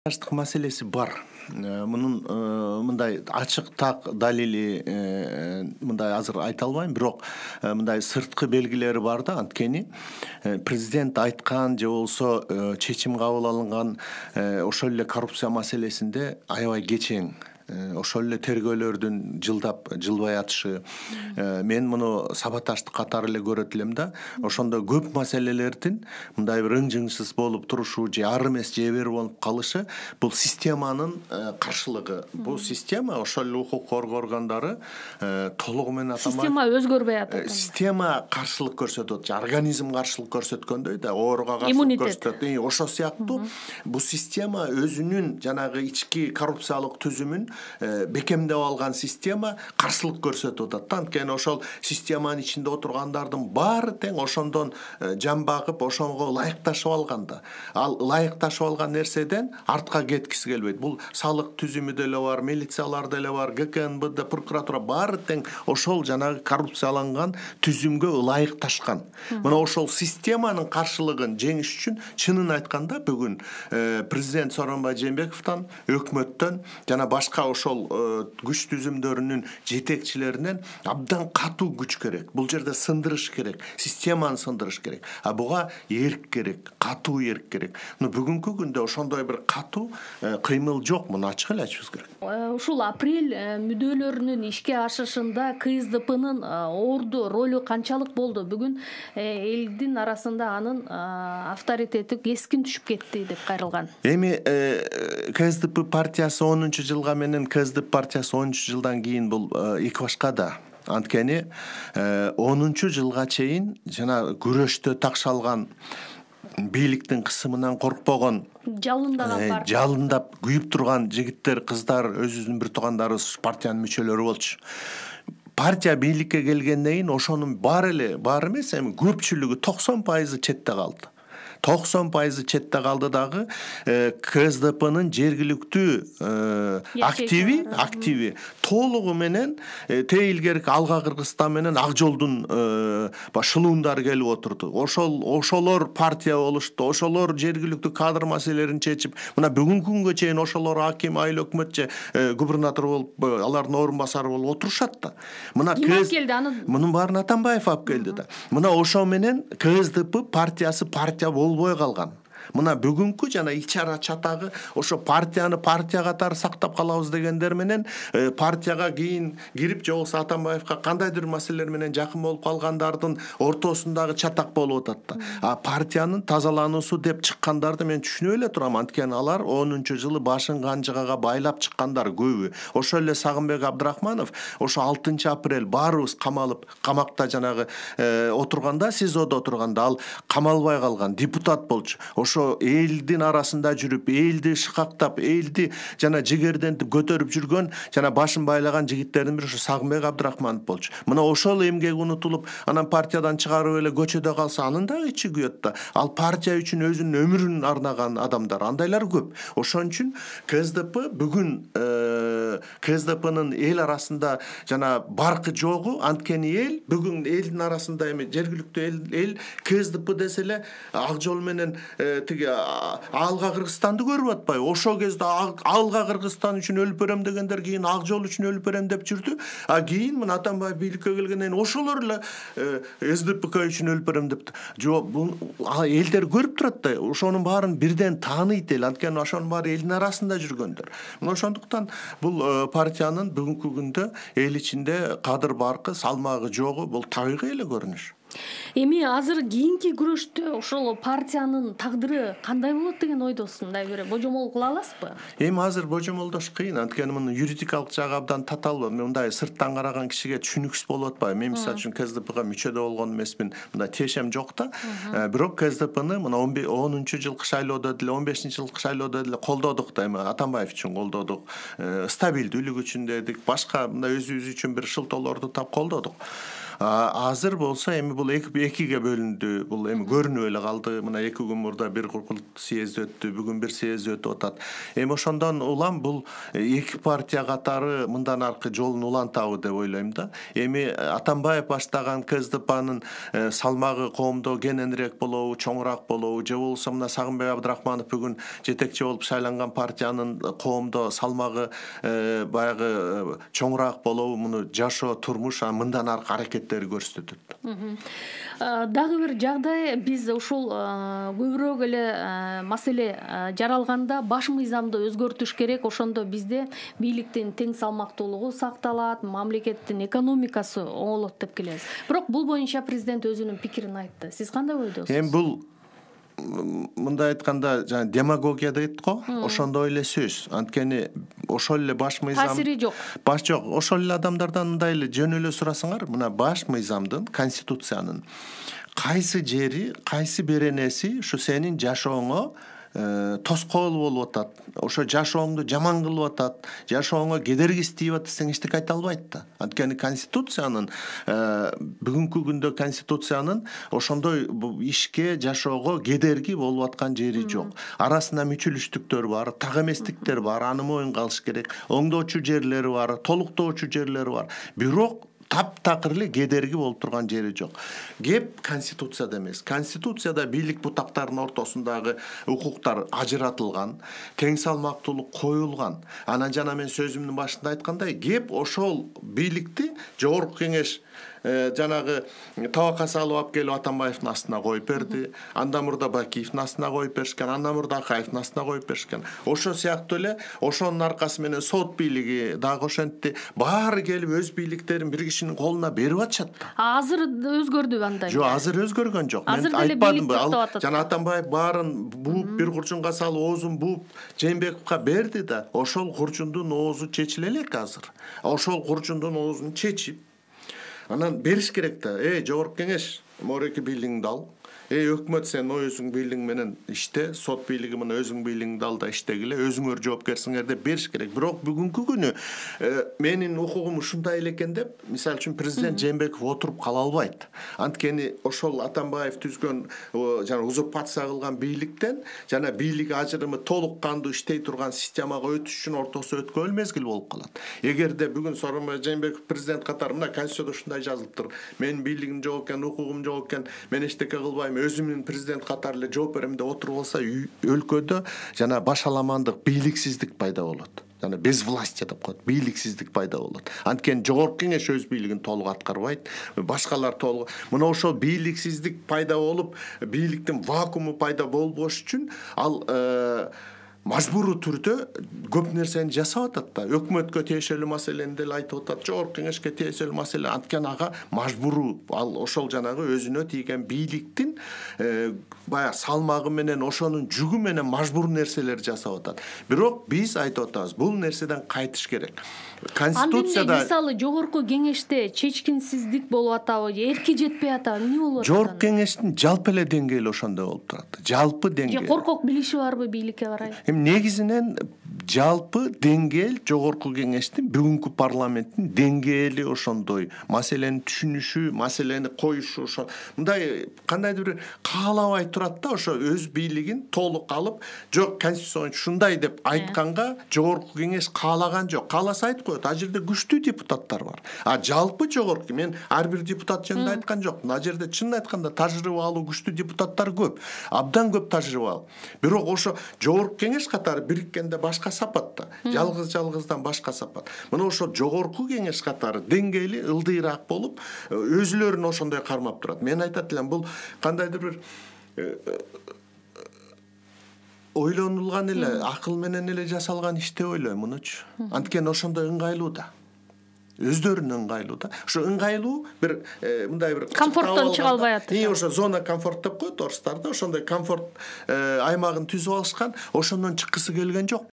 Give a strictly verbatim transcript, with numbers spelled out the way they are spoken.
Сабатташтык маселеси бар. Мунун мындай ачык так далили мындай азыр айта албайм, бирок мындай сырткы белгилери бар да. Анткени президент айткан же болбосо чечим кабыл алынган ошол эле коррупция маселесинде аябай кечең, ошол эле тергөөлөрдүн жылдап жылбай атышы, мен муну сабатташтык катары эле көрөт элем да. Ошондо көп маселелердин мындай бир ың-жыңсыз болуп турушу же ар эмес же бер болуп калышы бул системанын каршылыгы. Бул система ошол эле укук коргоо органдары толугу менен атамай система өзгөрбөй атат. Система каршылык көрсөтөт, же организм каршылык көрсөткөндөй да, ооруга каршылык көрсөтөт. Ошол сыяктуу бул система өзүнүн жанагы ички коррупциялык түзүмүн бекемдеп алган система каршылык көрсөтүп атат. Анткени ошол системанын ичинде отургандардын баары тең ошондон жан багып, ошого ылайыкташып алган да. Ал ылайыкташып алган нерседен артка кеткиси келбейт. Бул салык түзүмү деле бар, милициялар деле бар, ГКНБ, прокуратура баары тең ошол жанагы коррупцияланган түзүмгө ылайыкташкан. Мына ошол системанын каршылыгын жеңиш үчүн чынын айтканда бүгүн президент Сооронбай Жээнбековдон, өкмөттөн жана башка ошол күч түзүмдөрүнүн жетекчилеринен абдан катуу күч керек. Бул жерде сындырыш керек, системаны сындырыш керек. А буга эрк керек, катуу эрк керек. Но бүгүнкү күндө ошондой бир катуу кыймыл жок. Муну ачык эле айтышыбыз керек. Ушул апрель мүдөлөрүнүн ишке ашышында КСДПнын орду ролу канчалык болду? Бүгүн элдин арасында анын авторитети кескин түшүп кетти деп кайрылган. Эми КСДП партиясы онунчу жылга менен КСДП партиясы онунчу жылдан кийин бул эки башка да. Анткени онунчу жылга чейин жана күрөштө такшалган бийликтин кысымынан коркпогон, жалындаган партия, жалындап күйүп турган жигиттер, кыздар, өзүбүздүн бир туугандарыбыз партиянын мүчөлөрү болчу. Партия бийликке келгенден кийин ошонун баары эле, баары эмес, эми көпчүлүгү токсон пайызы четте калды. токсон пайызы четте калды дагы КСДПнын жергиликтүү активи, активи толугу менен те илгерки Алга Кыргызстан менен Ак Жолдун шылуундары келип отурду. Ошол ошолор партия болушту, ошолор жергиликтүү кадр маселелерин чечип, мына бүгүнкү күнгө чейин ошолор аким, айыл өкмөт же губернатор болуп, алардын орун басары болуп отурушат да. Мына мунун баарын Атамбаев алып келди да. Мына ошо менен КСДП партиясы партия болбой калган. Мына бүгүнкү жана ичара чатагы ошо партияны партия катары сактап калабыз дегендер менен партияга кийин кирип же болбосо Атамбаевка кандайдыр маселелер менен жакын болуп калгандардын ортосундагы чатак болуп атат да. А партиянын тазалануусу деп чыккандарды мен түшүнүп эле турам. Анткени алар онунчу жылы башын канжыгага байлап чыккандар көбү. Ошол эле Сагынбек Абдрахманов ошо алтынчы апрель баарыбыз камалып, камакта жанагы отурганда, СИЗОдо отурганда ал камалбай калган депутат болчу. Ошо элдин арасында жүрүп, элди шыкактап, элди жана жигердентип көтөрүп жүргөн жана башын байлаган жигиттердин бири ошо Сагынбек Абдрахманов болчу. Мына ошол эмгек унутулуп, анан партиядан чыгарып эле көчөдө калса, анын дагы ичи күйөт да. Ал партия үчүн өзүнүн өмүрүн арнаган адамдар, андайлар көп. Ошон үчүн КСДП бүгүн КСДПнын эл арасында жана баркы жогу. Анткени эл бүгүн элдин арасында эми жергиликтүү эл эл КСДП десе эле Ак Жол менен тиги Алга Кыргызстанды көрүп атпайбы? Ошол кезде Алга Кыргызстан үчүн өлүп берем дегендер кийин Ак Жол үчүн өлүп берем деп жүрдү. А кийин мына Атамбаев бийликке келгенден кийин ошолор эле СДПК үчүн өлүп берем депти. Жок, бул элдер көрүп турат да. Ошонун баарын бирден тааныйт эл. Анткени ошонун баары элдин арасында жүргөндөр. Мына ошондуктан бул партиянын бүгүнкү күндө эл ичинде кадыр баркы, салмагы жогу бул табигый эле көрүнүш. Эми азыр кийинки күрөштө ошол партиянын тагдыры кандай болот деген ойдосуз? Мындай бир божомол кыла аласызбы? Эми азыр божомолдош кыйын. Анткени мунун юридикалык жагы абдан татаал. Мындай сырттан караган кишиге түшүнүксүз болуп атпайбы? Мен мисалы үчүн КСДПга мүчөдө болгон эмесмин. Мындай тиешем жок да. Бирок КСДПны мына онунчу жылкы шайлоодо деле, он бешинчи жылкы шайлоодо деле колдодук да. Эми Атамбаев үчүн колдодук. Стабилдүүлүк үчүн дедик, башка мындай өзүбүз үчүн бир шылтоолорду таап колдодук. азыр болсо эми бул экиге бөлүндү. Бул эми көрүнүп эле калды. Мына эки күн мурда бир курулт съезд өттү, бүгүн бир съезд өтүп атат. Эми ошондон улам бул эки партия катары мындан аркы жолун улантабы деп ойлойм да. Эми Атамбаев баштаган КСДПнын салмагы коомдо кененирээк болобу, чоңураак болобу, же болбосо мына Сагынбек Абдрахманов бүгүн жетекчи болуп шайланган партиянын коомдо салмагы баягы чоңураак болобу, муну жашоо, турмуш мындан аркы аракеттери көрсөтөт. Дагы бир жагдай, биз ушул көбүрөөк эле маселе жаралганда баш мыйзамды өзгөртүш керек. Ошондо бизде бийликтин тең салмактуулугу сакталат, мамлекеттин экономикасы оңолот деп келебиз. Бирок бул боюнча президент өзүнүн пикирин айтты. Сиз кандай ойдосуз? Эми бул мындай айтканда жана демагогия дейт го, ошондой эле сөз. Анткени ошол эле баш мыйзам таасири жок. Баш жок. Ошол эле адамдардан мындай эле жөн эле сурасаңар, мына баш мыйзамдын, конституциянын кайсы жери, кайсы беренеси ушу сенин жашооңо тоскоол болуп атат, ошо жашооңду жаман кылып атат, жашооңо кедергиси тийип атат десең эчтеке айта албайт да. Анткени конституциянын бүгүнкү күндө конституциянын ошондой ишке, жашоого кедерги болуп аткан жери жок. Арасында мүчүлүштүктөр бар, так эместиктер бар, аны моюнга алыш керек. Оңдоочу жерлери бар, толуктоочу жерлери бар. Бирок таптакыр эле кедерги болуп турган жери жок. Кеп конституцияда эмес. Конституцияда бийлик бутактарынын ортосундагы укуктар ажыратылган, тең салмактуулук коюлган. Анан жана мен сөзүмдүн башында айткандай, кеп ошол бийликти жогорку кеңеш жанагы табакка салып алып келип Атамбаевдин астына коюп берди. Андан мурда Бакиевдин астына коюп беришкен, андан мурда Акаевдин астына коюп беришкен. Ошо сыяктуу эле ошонун аркасы менен сот бийлиги дагы ошентти. Баары келип өз бийликтерин бир кишинин колуна берип атышат да. Азыр өзгөрдүбү андай? Жок, азыр өзгөргөн жок. Мен айтпадымбы? Ал жана Атамбаев баарын бууп бир курчунга салып, оозун бууп Жээнбековго берди да. Ошол курчундун оозу чечиле элек азыр. Ошол курчундун оозун чечип анан бериш керек да. Эй, жогорку кеңеш, мореки бийлигиңди ал. Эй, өкмөт, сен өзүң бийлигиң менен иште, сот бийлиги мына өзүң бийлигиңди ал да иштегиле, өзүңөр жоопкерсиңер деп бериш керек. Бирок бүгүнкү күнү менин укугум ушундай эле экен деп, мисалы үчүн президент Жээнбеков отуруп кала албайт. Анткени ошол Атамбаев түзгөн жана узурпация кылган бийликтен жана бийлик ажырымы толук кандуу иштей турган системага өтүш үчүн ортосу өткөн мезгил болуп калат. Эгерде бүгүн Сооронбай Жээнбеков президент катары мына конституцияда ушундай жазылыптыр. Менин бийлигим жок экен, укугум жок экен, мен эчтеке кылбайм, өзүмдүн президент катары эле жооп берем деп отуруп алса, өлкөдө жана башаламандык, бийликсиздик пайда болот. Жана безвластие деп коет, бийликсиздик пайда болот. Анткени жогорку кеңеш өз бийлигин толук аткарбайт, башкалар толук. Мына ошол бийликсиздик пайда болуп, бийликтин вакууму пайда болбош үчүн ал мажбуруу түрдө көп нерсени жасап атат да. Өкмөткө тиешелүү маселени деле айтып атат, жогорку кеңешке тиешелүү маселе. Анткени ага мажбуруу, ал ошол жанагы өзүнө тийген бийликтин баягы салмагы менен, ошонун жүгү менен мажбур нерселер жасап атат. Бирок биз айтып атабыз, бул нерседен кайтыш керек. Конституцияда мисалы жогорку кеңеште чечкинсиздик болуп атабы, эрки жетпей атабы, эмне болуп атат? Жогорку кеңештин жалпы эле деңгээли ошондой болуп турат. Жалпы деңгээл. Же коркок билиши барбы бийликке карай? Эми негизинен жалпы деңгээл жогорку кеңештин, бүгүнкү парламенттин деңгээли ошондой. Маселени түшүнүшү, маселени коюшу ошо. Мындай кандайдыр бир каалабай турат да, ошо өз бийлигин толук алып, жок конституция ушундай деп айтканга жогорку кеңеш каалаган жок. Кааласа айткан а жерде күчтүү депутаттар бар. А жалпы жогорку, мен ар бир депутат жөнүндө айткан жокмун. А жерде чынын айтканда тажрыйбалуу күчтүү депутаттар көп. Абдан көп тажрыйбалуу. Бирок ошо жогорку кеңеш катары бириккенде башка сапат да. Жалгыз-жалгыздан башка сапат. Мына ошо жогорку кеңеш катары деңгээли ылдыйраак болуп, өзүлөрүн ошондой кармап турат. Мен айтат элем, бул кандайдыр бир ойлонулган эле, акыл менен эле жасалган иш деп ойлойм мунучу. Анткени ошондой ыңгайлуу да. Өздөрүнө ыңгайлуу да. Ошо ыңгайлуу бир мындай бир комфорттон чыга албай атышат. И ошо зона комфорт деп коет орустар да, ошондой комфорт аймагын түзүп алышкан, ошондон чыккысы келген жок.